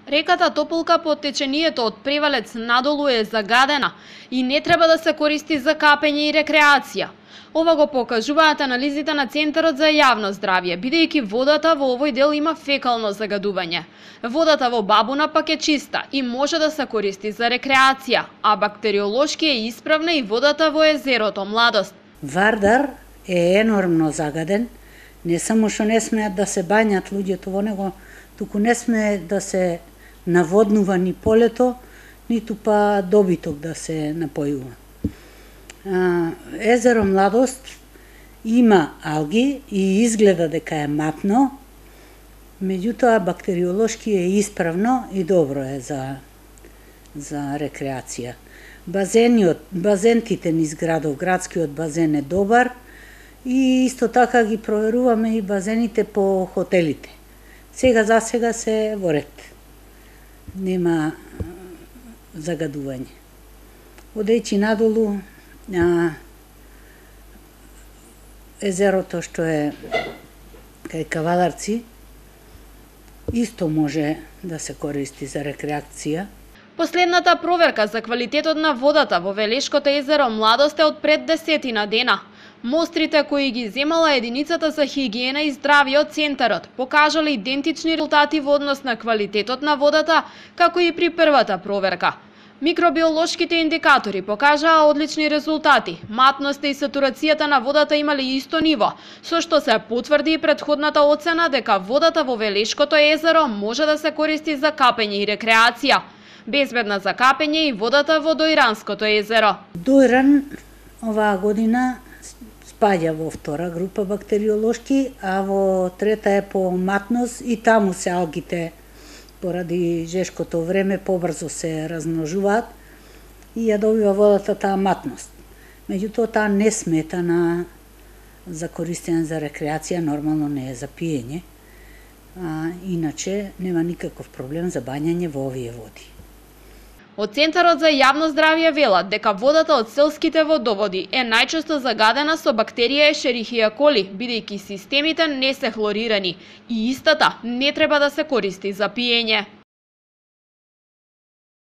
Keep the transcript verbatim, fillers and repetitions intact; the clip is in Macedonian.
Реката Тополка под течението од Превалец надолу е загадена и не треба да се користи за капење и рекреација. Ова го покажуваат анализите на Центарот за јавно здравје, бидејќи водата во овој дел има фекално загадување. Водата во Бабуна пак е чиста и може да се користи за рекреација, а бактериолошки е исправна и водата во езерото Младост. Вардар е енормно загаден, не само што не смеат да се бањат луѓето во него, туку не сме да се наводнува ни полето, ниту па добиток да се напојува. Езеро Младост има алги и изгледа дека е матно, меѓутоа бактериолошки е исправно и добро е за, за рекреација. Базениот, базентите низ градов, градскиот базен е добар и исто така ги проверуваме и базените по хотелите. Сега за сега се во ред. Нема загадување. Одејќи надолу, а, езерото што е кај Кавадарци исто може да се користи за рекреација. Последната проверка за квалитетот на водата во Велешкото езеро Младост е од пред десетина дена. Мострите кои ги земала единицата за хигиена и здравје од Центарот покажале идентични резултати во однос на квалитетот на водата, како и при првата проверка. Микробиолошките индикатори покажаа одлични резултати. Матноста и сатурацијата на водата имале исто ниво, со што се потврди и претходната оцена дека водата во Велешкото езеро може да се користи за капење и рекреација. Безбедна за капење и водата во Дојранското езеро. Дојран оваа година спаѓа во втора група бактериолошки, а во трета е по матност и таму се алгите поради жешкото време побрзо се размножуваат и ја добива водата таа матност. Меѓутоа таа не смета на за користење за рекреација, нормално не е за пиење, а иначе нема никаков проблем за бањање во овие води. Од Центарот за јавно здравје велат дека водата од селските водоводи е најчесто загадена со бактерија Ешерихија коли, бидејќи системите не се хлорирани и истата не треба да се користи за пиење.